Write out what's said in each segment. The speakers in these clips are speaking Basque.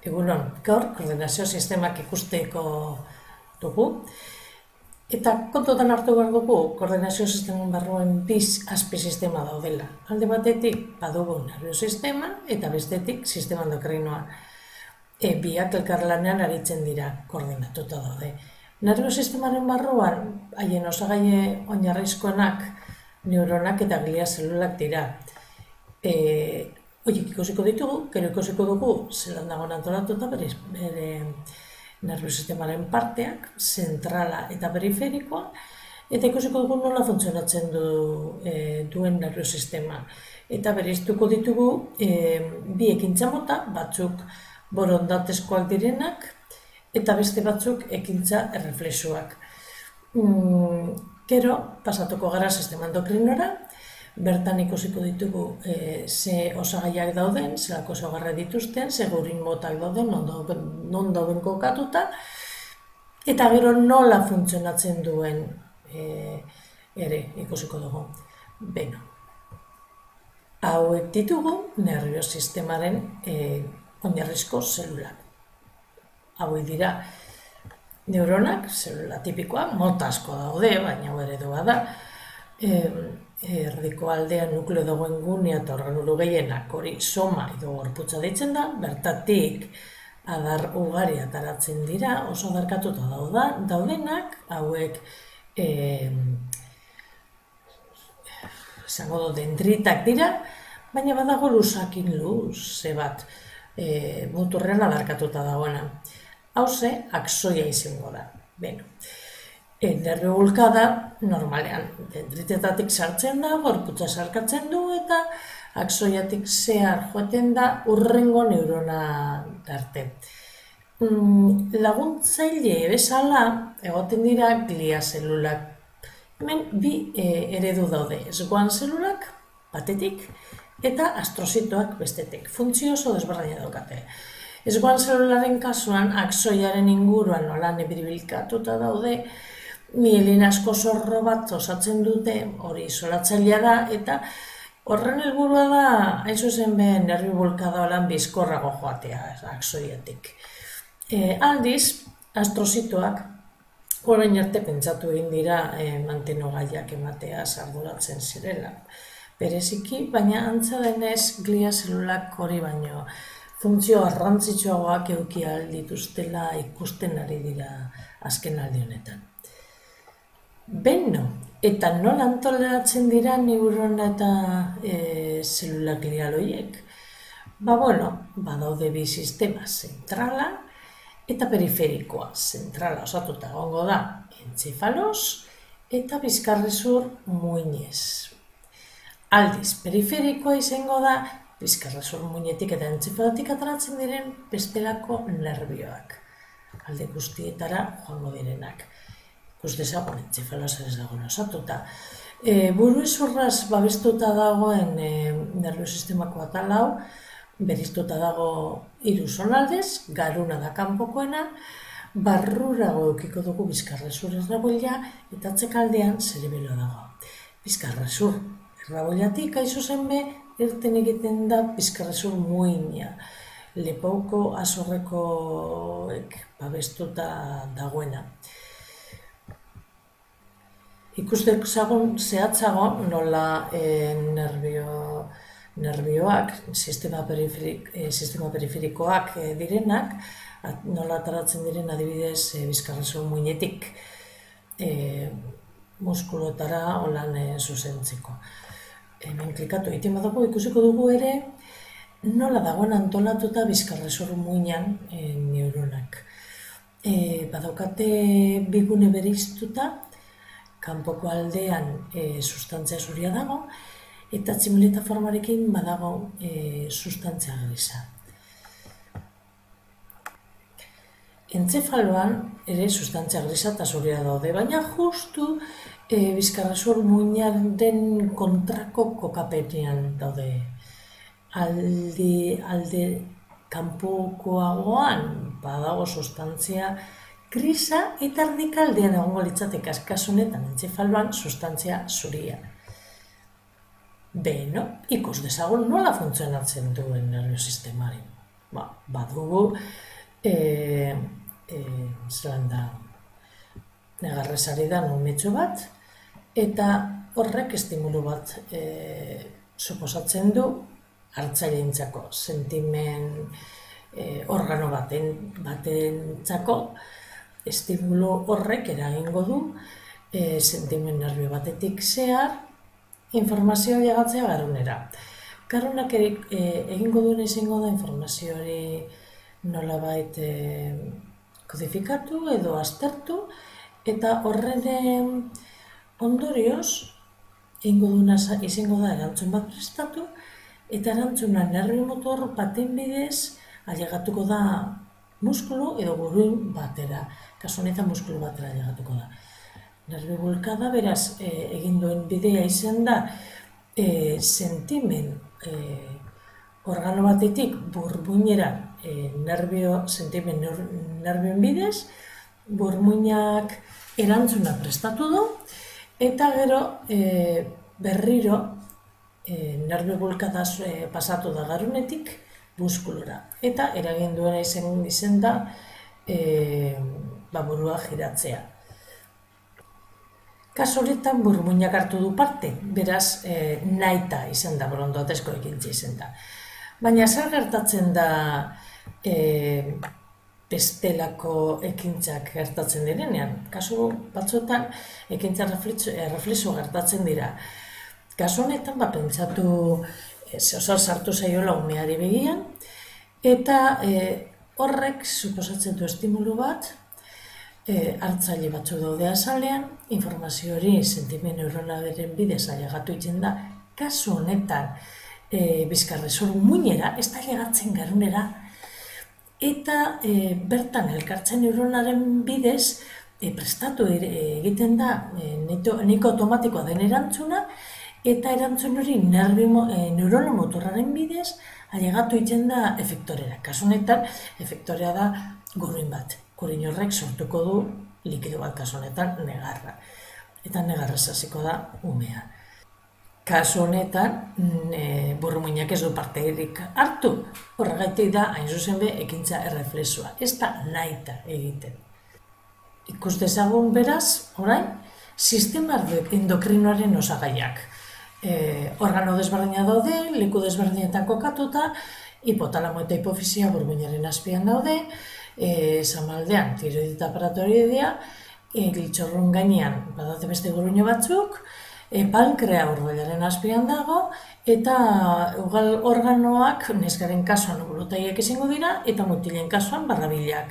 Egunon, gaur koordinazio sistemak ikusteko dugu. Eta kontutan hartu behar dugu, koordinazio sisteman barruan biz azpisistema daudela. Alde batetik badugu nervio sistema eta bestetik sistema endokrinoa. Biak elkarlanean aritzen dira, koordinatuta daude. Nervio sistemaren barruan, haien osagaile oinarrizkoenak, neuronak eta glia zelulak dira. Horiek ikusiko ditugu, gero ikusiko dugu zelan dagoen antolatuta bere nervio sistemaren parteak, zentrala eta periferikoa, eta ikusiko dugu nola funtzionatzen duen nervio sistema. Eta bereiztuko ditugu bi ekintza mota, batzuk borondatezkoak direnak, eta beste batzuk ekintza erreflexuak. Gero, pasatuko gara sistema endokrinora, bertan ikusiko ditugu ze osagaiak dauden, zelako osagarri dituzten, ze gurin motak dauden, non dauden kokatuta, eta gero nola funtzionatzen duen ere ikusiko dugu. Beno, hauek ditugu nervio sistemaren oinarrizko zelulak. Hauek dira neuronak, zelula tipikoa, mota asko daude, baina hau eredua da. Erdiko aldean nukleo dagoen gunea eta organelu gehienak hori soma edo gorputza deitzen da, bertatik adar ugari ataratzen dira, oso adarkatuta daudenak, hauek esango du dendritak dira, baina badago luzakin luze bat muturrean adarkatuta dagoena. Hauze, aksoia izango da. Beno, nervio bulkada normalean dendritetatik sartzen da, gorputza sarkatzen du eta aksoiatik zehar joaten da hurrengo neurona arte. Laguntzaile bezala egoten dira glia zelulak. Hemen bi eredu daude, esgoan zelulak batetik eta astrozitoak bestetik. Funtzio oso desberdina daukate. Esgoan zelularen kasuan aksoiaren inguruan nolan biribilkatuta daude, mielina asko zorro bat osatzen dute, hori isolatzailea da, eta horren helburua da, hain zuzen be, nervio bulkada holan bizkorrago joatea, aksoiatik. Aldiz, astrozitoak, orain arte pentsatu egin dira mantenogaiak ematea arduratzen zirela. Bereziki, baina antza denez glia zelulak hori baino funtzio garrantzitsuagoak eduki ahal dituztela ikusten ari dira azken aldi honetan. Beno, eta nola antolatzen dira neurona eta zelula glial horiek? Badaude bi sistema, zentrala eta periferikoa. Zentrala osatuta egongo da entzefalos eta bizkarrezur muinez. Aldiz, periferikoa izango da bizkarrezur muinetik eta entzefalotik ateratzen diren bestelako nerbioak. Alde guztietara joango direnak. Ikus dezagun entzefalosa ez dagoen osatuta. Buruezurraz babestuta dagoen nervio sistemako atal hau, beriztuta dago 3 zonaldez, garuna da kanpokoena, barrurago eukiko dugu bizkarrezur erraboila eta atzekaldean zerebelo dago. Bizkarrezur erraboilatik aizu zenbe, irten egiten da bizkarrezur muina, lepauko azorrekoek babestuta dagoena. Ikustek zagun zehatzago nola nerbioak, sistema periferikoak direnak, nola ataratzen diren adibidez bizkarrezur muinetik muskulotara holan zuzentzeko. Hemen klikatu egiten badugu ikusiko dugu ere nola dagoen antolatuta bizkarrezur muinan neuronak. Badaukate bigune bereiztuta, kanpoko aldean sustantzia zuria dago, eta tximeleta formarekin badago sustantzia grisa. Entzefaloan ere sustantzia grisa eta zuria daude, baina justu bizkarrezur muinaren kontrako kokapenean daude. Alde kanpokoagoan badago sustantzia grisa eta erdikaldean egongo litzateke kasunetan entzefaloan sustantzia zuria. Beno, ikus dezagun nola funtzionatzen duen nervio sistemari. badugu zelan da negarrezari da umetxo bat, eta horrek estimulu bat suposatzen du hartzaileentzako, sentimen organo batentzako estimulu horrek eragingo du sentimen nerbio batetik zehar informazioa llegatzea garunera. Garunak egingo duen izango da informazio hori nolabait kodifikatu edo aztertu, eta horren ondorioz egingo duena izango da erantzun bat prestatu, eta erantzuna nerbio motor baten bidez ailegatuko da muskulu edo guruin batera. Kasu honetan muskulu batera ailegatuko da. Nerbio bulkada, beraz, egin duen bidea izan da sentimen organo batetik burmuinera sentimen nerbioen bidez, burmuinak erantzuna prestatu du, eta gero berriro nerbio bulkadaz pasatu da garunetik muskulura. Eta eragin duena izan da burua giratzea. Kasu horretan burmuinak hartu du parte, beraz nahita izan da, borondatezko ekintza izan da. Baina zer gertatzen da bestelako ekintzak gertatzen direnean? Kasu batzuetan ekintza reflexo gertatzen dira. Kasu honetan pentsatu zeozer sartu zaiola umeari begian, eta horrek suposatzen du estimulu bat, hartzaile batzu daude azalean, informazio hori sentimen neuronalaren bidez ailegatu egiten da, kasu honetan bizkarrezur muinera, ez da ailegatzen garunera, eta bertan elkartzen neuronaren bidez prestatu egiten da nahiko automatikoa den erantzuna, eta erantzun hori neurono motorraren bidez ailegatu egiten da efektorera. Kasu honetan efektorea da guruin bat. Guruin horrek sortuko du likido bat, kasu honetan negarra. Eta negarrez hasiko da umea. Kasu honetan burmuinak ez du parteirik hartu. Horregatik da hain zuzen be ekintza erreflexua. Ez da nahita egiten. Ikus dezagun beraz, orain, sistema endokrinoaren osagaiak. Organo desberdina daude, leku desberdinetan kokatuta, hipotalamo eta hipofisia burmuinaren azpian daude, zamaldean tiroidita aparatoidea, giltzorrun gainean badate beste guruño batzuk, pankrea urdoilaren azpian dago, eta ugal organoak neskaren kasuan burutaiak izango dira, eta mutilen kasuan barrabilak.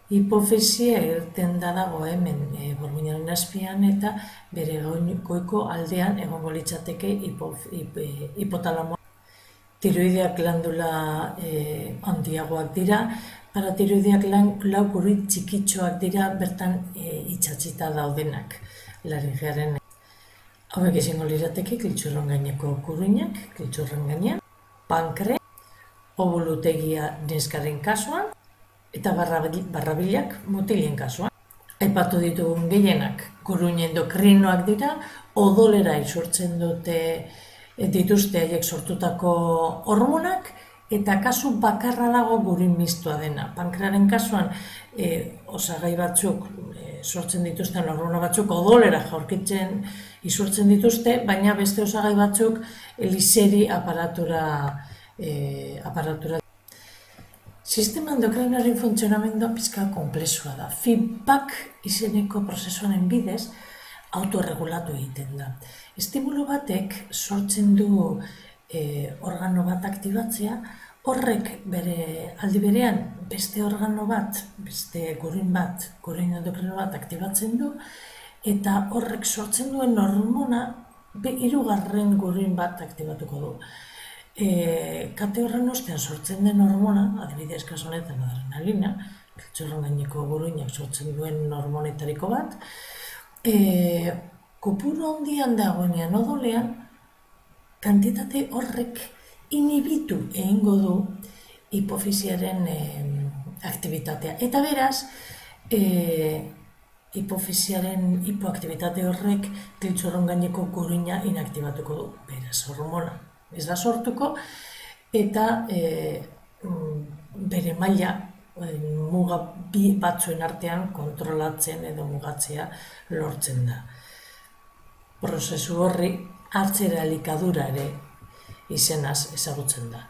Hipofisia irten da dago hemen burmuinaren azpian, eta bere goiko aldean egongo litzateke hipotalamoa. Tiroideak glandula handiagoak dira, paratiroideak lau guruin txikitxoak dira bertan itxatzita daudenak laringearen. Hauek izango lirateke giltzurron gaineko guruinak, giltzurron gainean, pankre, obulutegia neskaren kasuan, eta barrabilak mutilen kasuan. Aipatu ditugun gehienak guruin endokrinoak dira, odolera isurtzen dituzte haiek sortutako hormonak, eta kasu bakarra dago guruin mistoa dena. Pankrearen kasuan osagai batzuk sortzen dituzten hormona batzuk odolera jaurkitzen isurtzen dituzte, baina beste osagai batzuk liseri aparatura. Sistema endokrinaren funtzionamendua pizka konplexua da. Feedback izeneko prozesuaren bidez autorregulatu egiten da. Estimulu batek sortzen du organo bat aktibatzea, horrek bere aldi berean beste organo bat, beste guruin endokrino bat aktibatzen du, eta horrek sortzen duen hormona hirugarren guruin bat aktibatuko du. Kate horren ostean sortzen den hormona, adibidez kasu honetan adrenalina, giltzurrun gaineko guruinak sortzen duen hormonetariko bat, kopuru handian dagoenean odolean, kantitate horrek inhibitu egingo du hipofisiaren aktibitatea. Eta beraz, hipofisiaren hipoaktibitate horrek giltzurrun gaineko guruina inaktibatuko du. Beraz, hormona ez da sortuko, eta bere maila muga bi batzuen artean kontrolatzen edo mugatzea lortzen da. Prozesu horri atzera elikadura ere izenaz ezagutzen da.